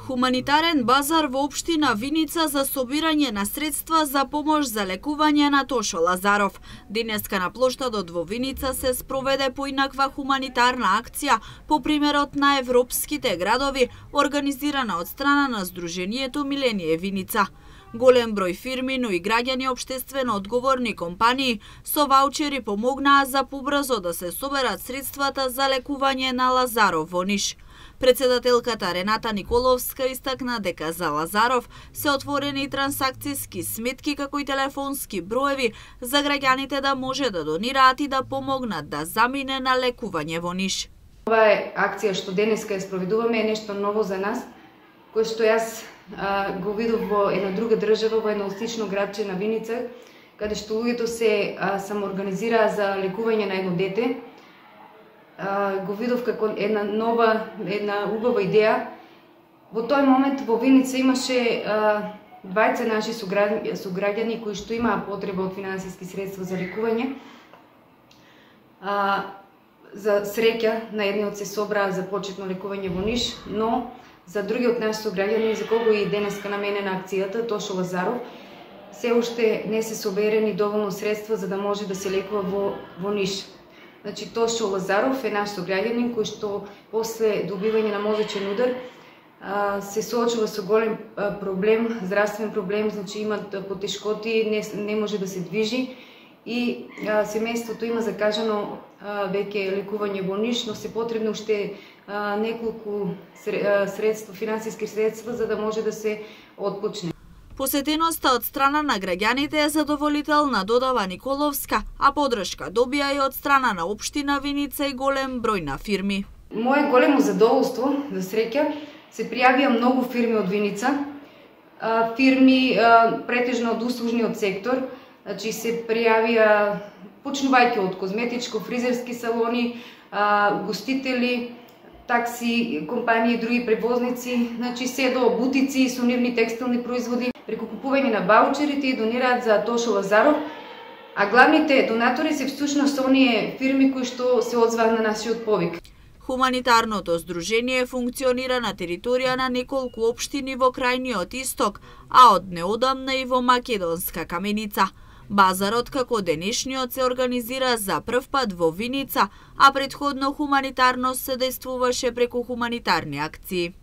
Хуманитарен базар во општина Виница за собирање на средства за помош за лекување на Тошо Лазаров. Денеска на плоштадот во Виница се спроведе поинаква хуманитарна акција по примерот на европските градови, организирана од страна на Сдруженијето Миление Виница. Голем број фирми, но и граѓани општествено одговорни компании со ваучери помогнаа за побрзо да се соберат средствата за лекување на Лазаров во Ниш. Председателката Рената Николовска истакна дека за Лазаров се отворени трансакцијски сметки како и телефонски броеви за граѓаните да може да донираат и да помогнат да замине на лекување во Ниш. Ова е акција што денеска ја спроведуваме, е нешто ново за нас, кој што јас го видов во една друга држава, во едно слично градче на Виница, каде што луѓето се самоорганизираа за лекување на едно дете. Го видов како една убава идеја. Во тој момент во Виница имаше двајца наши сограѓани кои што имаа потреба од финансиски средства за лекување. За среќа на едниот се собраа за почетно лекување во Ниш, но за другиот наш сограѓани, за кого и денеска наменена акцијата, Тошо Лазаров, се уште не се соберени доволно средства за да може да се лекува во Ниш. Значи, Тошо Лазаров е наш сограѓанин кој што после добивање на мозочен удар се соочува со голем проблем, здравствен проблем, значи има потешкоти, не може да се движи и семејството има закажано веќе лекување во Ниш, но се потребно уште неколку средства, финансиски средства за да може да се отпочне. Посетеноста од страна на граѓаните е задоволителна, додава Николовска, а подршка добија и од страна на општина Виница и голем број на фирми. Мое големо задоволство, за среќа, се пријавија многу фирми од Виница, фирми претежно од услужниот сектор, значи се пријавија почнувајќи од козметичко, фризерски салони, гостители, такси, компании и други превозници, значи се до бутици, сувенирни текстилни производи, преку купување на ваучерите и донираат за Тошо Лазаров, а главните донатори се всушност оние фирми кои што се одзваа на нашиот повик. Хуманитарното здружение функционира на територија на неколку општини во крајниот исток, а од неодамна и во Македонска Каменица. Базарот како денешниот се организира за прв пат во Виница, а претходно хуманитарно се дејствуваше преку хуманитарни акции.